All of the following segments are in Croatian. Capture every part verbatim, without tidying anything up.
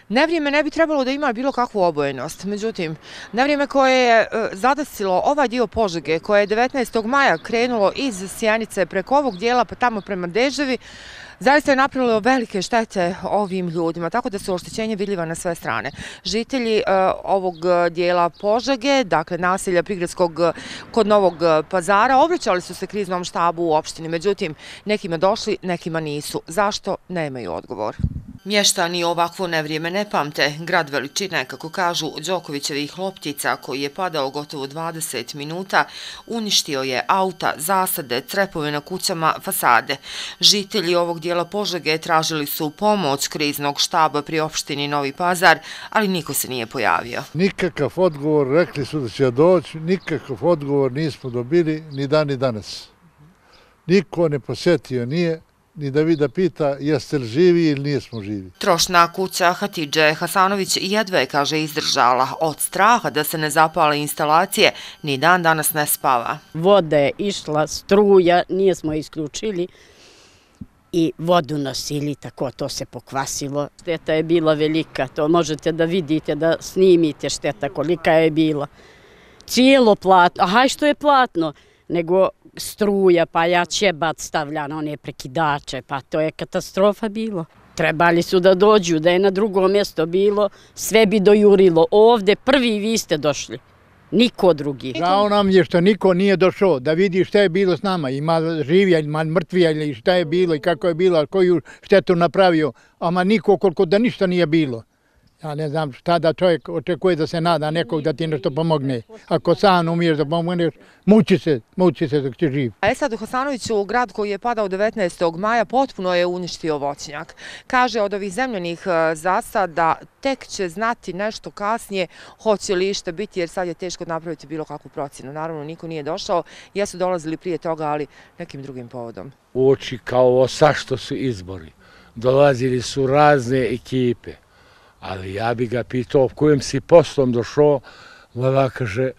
Nevrijeme ne bi trebalo da ima bilo kakvu obojenost, međutim, nevrijeme koje je zadesilo ovaj dio Požege, koje je devetnaestog maja krenulo iz Sjenice preko ovog dijela pa tamo prema Deževi, zaista je napravilo velike štete ovim ljudima, tako da su oštećenje vidljiva na sve strane. Žitelji ovog dijela Požege, dakle naselja Prigradskog kod Novog Pazara, obraćali su se kriznom štabu u opštini, međutim, nekima došli, nekima nisu. Zašto? Nemaju odgovor. Mještani ovakvo nevrijeme ne pamte. Grad veličine, kako kažu, Đokovićevih loptica, koji je padao gotovo dvadeset minuta, uništio je auta, zasade, crepove na kućama, fasade. Žitelji ovog dijela Požege tražili su pomoć kriznog štaba pri opštini Novi Pazar, ali niko se nije pojavio. Nikakav odgovor, rekli su da će doći, nikakav odgovor nismo dobili ni dan ni danas. Niko ne posjetio nije, ni da vi da pita jeste li živi ili nismo živi. Trošna kuća Hatidže Hasanović jedva je, kaže, izdržala. Od straha da se ne zapale instalacije, ni dan danas ne spava. Voda je išla, struja, nije smo isključili i vodu nosili, tako to se pokvasilo. Šteta je bila velika, to možete da vidite, da snimite šteta kolika je bila. Cijelo platno, aha, što je platno, nego struja, pa ja ćebat stavlja na one prekidače, pa to je katastrofa bilo. Trebali su da dođu, da je na drugo mjesto bilo, sve bi dojurilo. Ovde prvi vi ste došli, niko drugi. Žao nam je što niko nije došao da vidi šta je bilo s nama, ima živija, ima mrtvija ili šta je bilo i kako je bilo, koju štetu napravio, ama niko koliko da ništa nije bilo. Ja ne znam šta da čovjek očekuje da se nada nekog da ti nešto pomogne. Ako sam umiješ da pomogneš, muči se, muči se dok će živ. E sad u Hasanoviću, grad koji je padao devetnaestog maja, potpuno je uništio voćnjak. Kaže od ovih zemljanih zasada tek će znati nešto kasnije hoće li išta biti, jer sad je teško napraviti bilo kakvu procjenu. Naravno, niko nije došao, jesu dolazili prije toga, ali nekim drugim povodom. Uoči kao ovo sašto su izbori. Dolazili su razne ekipe. Ali ja bi ga pitao kojim si poslom došao, vada kaže,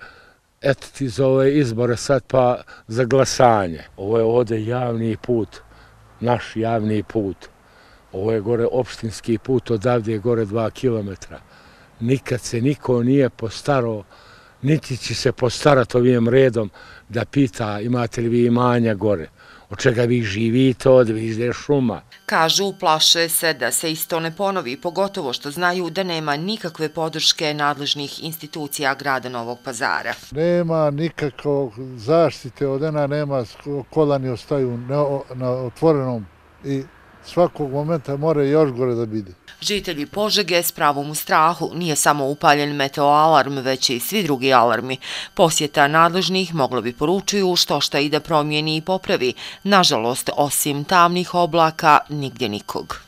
eto ti za ove izbore sad pa za glasanje. Ovo je ovdje javni put, naš javni put. Ovo je gore opštinski put, odavde je gore dva kilometra. Nikad se niko nije postarao, niti će se postarati ovim redom da pita imate li vi imanja gore. Od čega vi živite, od vizde šuma. Kažu, plaše se da se isto ne ponovi, pogotovo što znaju da nema nikakve podrške nadležnih institucija grada Novog Pazara. Nema nikakve zaštite od ena, nema, kolani ostaju na otvorenom i svakog momenta mora još gore da bide. Žitelji Požege s pravom u strahu, nije samo upaljen meteoalarm, već i svi drugi alarmi. Posjeta nadležnih moglo bi poručuju što šta i da promijeni i popravi. Nažalost, osim tamnih oblaka, nigdje nikog.